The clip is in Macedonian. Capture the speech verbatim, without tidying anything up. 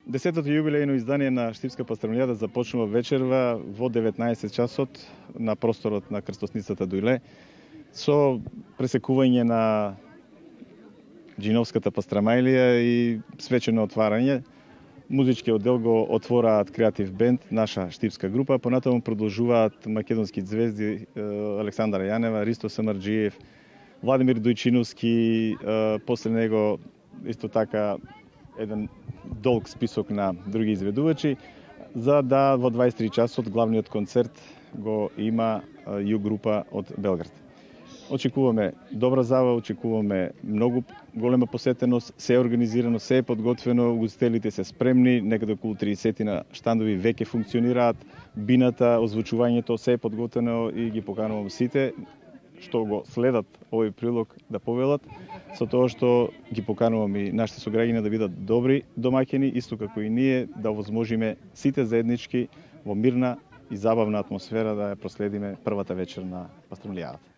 Десетото јубилејно издание на Штипска пастрмилијада започнува вечерва во деветнаесет часот на просторот на крстосницата Дујле со пресекување на Џиновската пастрамајлија и свечено отварање. Музичкиот дел го отвораат Креатив бенд, наша штипска група, понатаму продолжуваат македонски звезди Александра Јанева, Ристо Самарџиев, Владимир Дојчиновски, после него исто така еден долг список на други изведувачи, за да во дваесет и три часот главниот концерт го има Југ група од Белград. Очекуваме добра забава, очекуваме многу голема посетеност, се е организирано, се е подготвено, угостителите се спремни, некаде околу триесет на штандови веќе функционираат, бината, озвучувањето, се е подготвено и ги поканувам сите што го следат овој прилог да повелат, со тоа што ги поканувам и нашите сограѓани да бидат добри домаќини, исто како и ние да овозможиме сите заеднички во мирна и забавна атмосфера да ја проследиме првата вечер на пастрмилијадата.